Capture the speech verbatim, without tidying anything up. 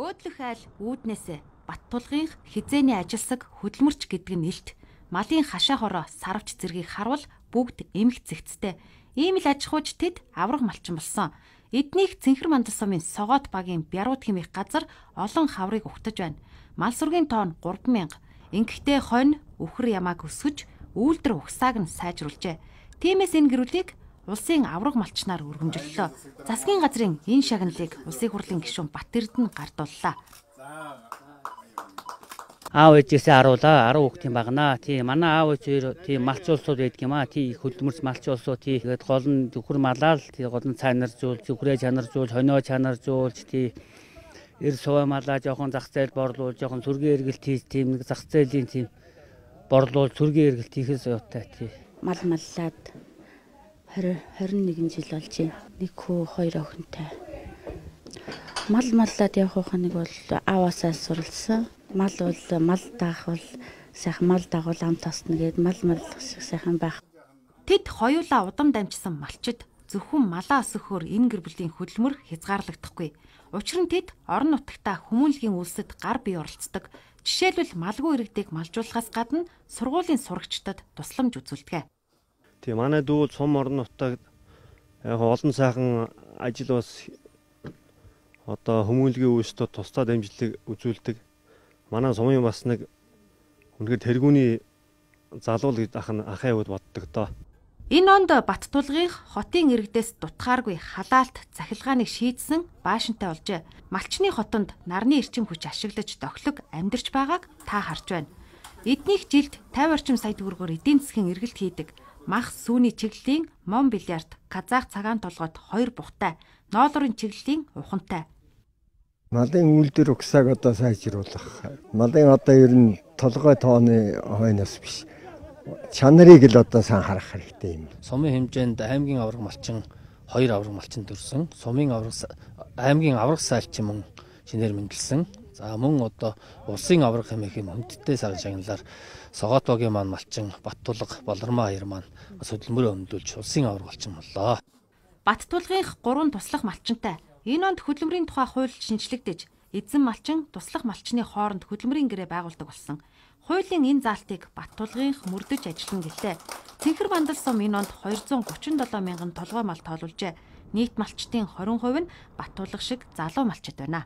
Өөдлөх айл үүднээсээ Баттулгын хизээний ажилсаг хөдөлмөрч гэдэг нь илт. Малын хашаа хороо сарвч зэргийг харвал бүгд эмх зэгцтэй. Ийм л аж ахуйч тэд авраг малчин болсон. Эднийх Цэнхэр мандал сумын Согоот багийн Бярууд хэмээх газар олон хаврыг угтаж байна. Мал сүргийн тоон гурван мянга. Ингэхдээ хонь өхөр ямааг өсгөж үйлдвэр ухсааг нь сайжруулжээ. Тиймээс энэ гэрүүлийг улсын авраг малчнаар өргөмжлөлөө. Засгийн газрын энэ шагналыг улсын хурлын гишүүн Бат Эрдэнэ гардууллаа. Аав ээжээсээ харуулаа арав хүүхдийн багнаа. Тий манай аав ээж тий малч улсууд байдаг юм аа. Тий хөдөлмөрч малч улсууд тий тэгээд гол нь зөвхөр малаал тий гол нь цанаржуул, зөвхрээ чанаржуул, хонио чанаржуулж тий эр суваа малаа жоохон зах зээл борлуул, жоохон сүргийн эргэлт хийж тийм нэг зах зээлийн тийм борлуул, сүргийн эргэлт хийхээс явтай тий. Мал маллаад двадцать двадцать нэгэн жил болж байна. Нэг хүү хоёр охинтой. Мал маллаад явах нэг бол ааваасаа суралцсан. Мал бол мал даах бол сайхан мал дагуул ам тосно гэд мал мал сайхан байх. Тэд хоёулаа удам дамжсан малчид зөвхөн малаа өсгөхөөр энэ гэр бүлийн хөдөлмөр хязгаарлагдахгүй. Учир нь тэд орон нутагта хүмүүнлэгийн үйлсэд гар бие оролцдог. Жишээлбэл малгүй иргэдийг малжуулахаас гадна сургуулийн сурагчдад тусламж үзүүлдэг. Тийм манай дүүл сум орон нутагт яг олон сайхан ажил бас одоо хүмүүнлэгийн үйлсэд тусдаа дамжлыг үзүүлдэг. Манай сумын бас нэг үнэхээр тэргүүний залуу гэж ах нь ахаа явууд боддог доо. Энэ онд Баттулгын хотын иргэдээс дутхааргүй халаалт захилгааныг шийдсэн баашинтай болжээ. Малчны хотонд нарны эрчим хүч ашиглаж дохлог амьдарч байгааг та харж байна. Эднийх жилд пятьдесят орчим сая төгрөгөөр эдийн засгийн эргэлт хийдэг. Мах сүүний чиглэлийн Мон бильярд, казах цагаан толгойд хоёр бухтай, ноолорын чиглэлийн ухантай. Малын үйлдвэр ухсааг одоо сайжруулах. Малын одоо ер нь толгой тооны хойноос биш. Чанарыг л одоо сайн харах хэрэгтэй юм. Сумын хэмжээнд аймгийн авраг малчин хоёр авраг малчин төрсөн. Сумын авраг аймгийн авраг сайлчин мөн шинээр мэндэлсэн. За мөн одоо улсын авраг хэмээх юм хүндтэй сар шагналаар Согоот багийн маань малчин Баттулга Болормоо хоёр маань бас хөдөлмөрөө өмдүүлж улсын авраг малчин боллоо. Баттулгынх гурван туслах малчинтай. Энэ онд хөдөлмөрийн тухай хууль шинжлэгдэж, эзэн малчин туслах малчны хооронд хөдөлмөрийн гэрээ байгуулдаг болсон. Хуулийн энэ заалтыг Баттулгынх мөрдөж ажиллана гэлээ. Цэнхэр мандал сум энэ онд двести тридцать семь мянган толгой мал тоолуулжээ. Нийт малчтын двадцать хувь нь Баттулга шиг залуу малчид байна.